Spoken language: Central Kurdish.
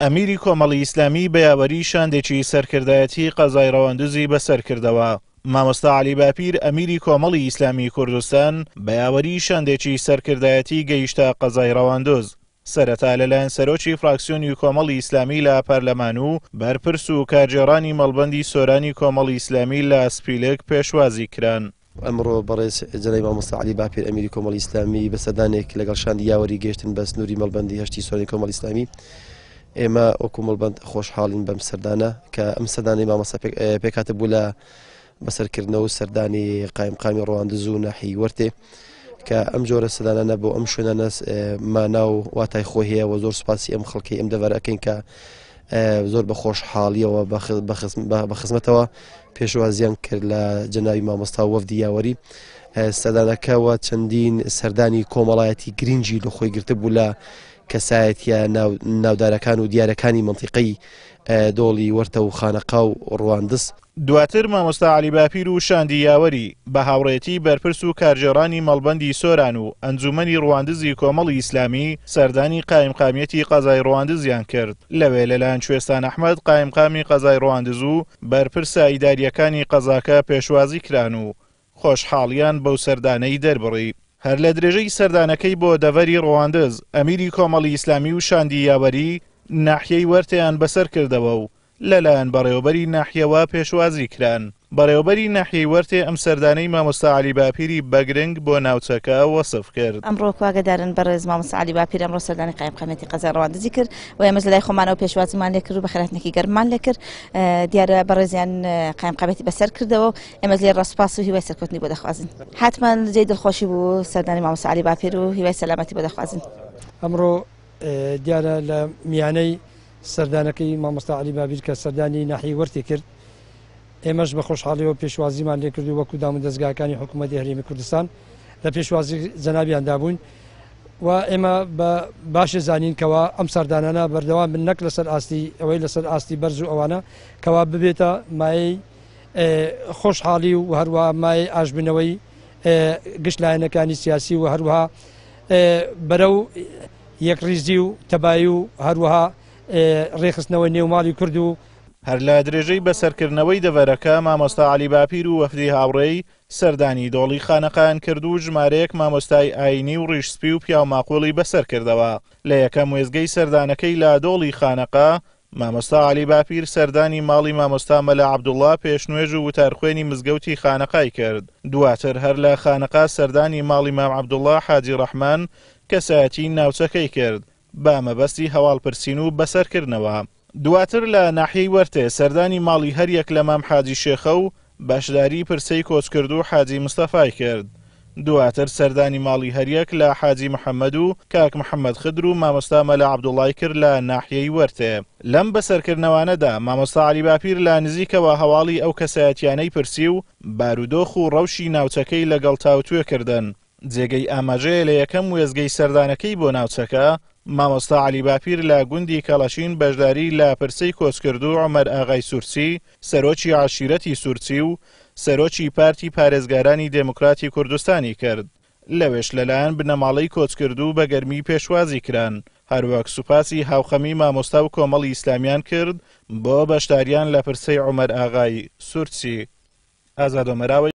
ئەمیری کۆمەڵی ئیسلامی بە یاوەری شاندێکی سەرکردایەتی قەزای ڕەواندزی بەسەر کردەوە. مامۆستا عەلی باپیر ئەمیری کۆمەڵی ئیسلامی کوردستان بە یاوەری شاندێکی سەرکردایەتی گەیشتە قەزای ڕەواندز. سەرەتا لەلایەن سەرۆکی فراکسیۆنی کۆمەڵی ئیسلامی لە پەرلەمان و بەرپرس و کارگێڕانی مەڵبەندی سۆرانی کۆمەڵی ئیسلامی لە سپیلک پێشوازی کران. ئەمڕۆ بەڕێز جەنابی مامۆستا عەلی باپیر ئەمیری کۆمەڵی ئیسلامی بە سەردانێک لەگەڵ شاندی یاوەری گەیشتن بە سنووری مەڵبەندی هەشتی سۆرانی کۆمەڵی ئیسلامی. ئێمە وەکو مەڵبەند خۆشحاڵین بەم سەردانە کە ئەم سەردانەی مامۆستا پێکهاتە بوو لە بەسەرکردنەوە و سەردانی قایمقامی ڕواندز و ناحیەی وەرتێ کە ئەم جۆرە سەردانانە بۆ ئەم شوێنانە مانا و واتای خۆی هەیە و زۆر سوپاسی ئەم خەڵکەی ئەم دەڤەرە ئەکەین کە زۆر بە خۆشحاڵیەوە بە خزمەتەوە پێشوازیان کرد لە جەناوی مامۆستا وەفدی یاوەری سەردانەکەەوە چەندین سەردانی کۆمەڵایەتی گرنگی لە خۆی گرتبوو لە کەسایەتە ناودارەکان و دیارەکانی منتیقەی دۆڵی وەرتە و خانەقا و ڕواندز. دواتر مامۆستا عەلی باپیر و شاندی یاوەری، بە هاوڕێیەتی بەرپرس و کارگێڕانی مەڵبەندی سۆران و ئەنجوومەنی ڕواندزی کۆمەڵی ئیسلامی، سەردانی قایمقامیەتی قەزای ڕواندزیان کرد. لەوێ لەلایەن کوێستان ئەحمەد قایمقامی قەزای ڕواندز و بەرپرسە ئیدارییەکانی قەزاکە پێشوازی کران و خۆشحاڵیان بەو سەردانەی دەربڕی. هەر لە درێژەی سەردانەکەی بۆ دەڤەری ڕواندز، ئەمیری کۆمەڵی ئیسلامی و شاندی یاوەری ناحیەی وەرتێیان بەسەر کردەوە و لەلایەن بەڕێوەبەری ناحیەوە پێشوازی کران. بەڕێوەبەری ناحیەی وەرتێ ئەم سەردانەی مامۆستا عەلی باپیری بە گرنگ بۆ ناوچەکە وەسف کرد. ئەمڕۆ کوا گەدارن بەڕێز مامۆستا عەلی باپیر ئەمڕۆ سەردانی قایمقامیەتی قەزای ڕواندزی کرد و ئێمەش لەلای خۆمانەوە پێشوازیمان لێکرد و بەخێرهاتنێکی گەرممان لێکرد. دیارە بەڕێزیان قایمقامیەتی بەسەر کردەوە و ئێمەش لێرە سوپاس و هیوای سەرکەوتنی بۆ دەخوازین. حەتمەن جێی دڵخۆشی بوو سەردانی مامۆستا عەلی باپیر و هیوای سەلامەتی بۆ دەخوازین. ئەمڕۆ دیارە لە میانەی سەردانەکەی مامۆستا عەلی بابیر کە سەردانی ناحیەی وەرتی کرد، ئێمەش بە خۆشحاڵیەوە پێشوازیمان لێکرد و وەکو دامودەزگاکانی حکوومەتی هەرێمی کوردستان لە پێشوازی جەنابیاندا بووین و ئێمە بە باشێ زانین کەوا ئەم سەردانانە بەردەوام بن نەک لەسەر ئاستی ئەوەی لەسەر ئاستی بەرز و ئەوانە کەوا ببێتە مایەی خۆشحاڵی و هەروەها مایەی ئاشبوونەوەی گشت لایەنەکانی سیاسی و هەروەها بەرەو یەکڕیزی و تەبایی و هەروەها ڕێکخستنەوەی نێو ماڵی کورد و هەر لە درێژەی بەسەرکردنەوەی دەڤەرەکە، مامۆستا عەلی باپیر و وەفدی هاوڕێی سەردانی دۆڵی خانەقایان کرد و ژمارەیەک مامۆستای ئایینی و ڕیش سپی و پیاوماقوڵی بەسەرکردەوە. لە یەکەم وێستگەی سەردانەکەی لە دۆڵی خانەقا، مامۆستا عەلی باپیر سەردانی ماڵی مامۆستا مەلا عەبدوڵڵا پێشنوێژ و وتارخوێنی مزگەوتی خانەقای کرد. دواتر هەر لە خانەقا سەردانی ماڵی مام عەبدوڵڵا حاجی ڕەحمان کەسایەتی ناوچەکەی کرد بە مەبەستی هەواڵپرسین و بەسەرکردنەوە. دواتر لە ناحیەی وەرتێ سەردانی ماڵی هەریەک لە مام حاجی شێخە و بەشداری پرسەی کۆچکردوو حاجی مستەفای کرد. دواتر سەردانی ماڵی هەریەک لە حاجی محەمەد و کاک محەمەد خدر و مامۆستا مەلا عەبدوڵای کرد لە ناحیەی وەرتێ. لەم بەسەرکردنەوانەدا مامۆستا عەلی باپیر لە نزیکەوە هەواڵی ئەو کەسایەتیانەی پرسی و بارودۆخ و ڕەوشی ناوچەکەی لەگەڵ تاوتوێ کردن. جێگەی ئاماژەیە لە یەکەم وێستگەی سەردانەکەی بۆ ناوچەکە، مامۆستا عەلی باپیر لە گوندی کەڵەشین بەشداری لە پرسەی کۆچکردوو عومەر ئاغای سورچی، سەرۆکی عەشیرەتی سورچی و سەرۆکی پارتی پارێزگارانی دێموکراتی کوردستانی کرد. لەوێش لەلایەن بنەماڵەی کۆچکردوو بە گەرمی پێشوازی کران، هەروەک سوپاسی هاوخەمی مامۆستا و کۆمەڵی ئیسلامیان کرد بۆ بەشداریان لە پرسەی عومەر ئاغای سورچی. ئازاد ئۆمەراوەی.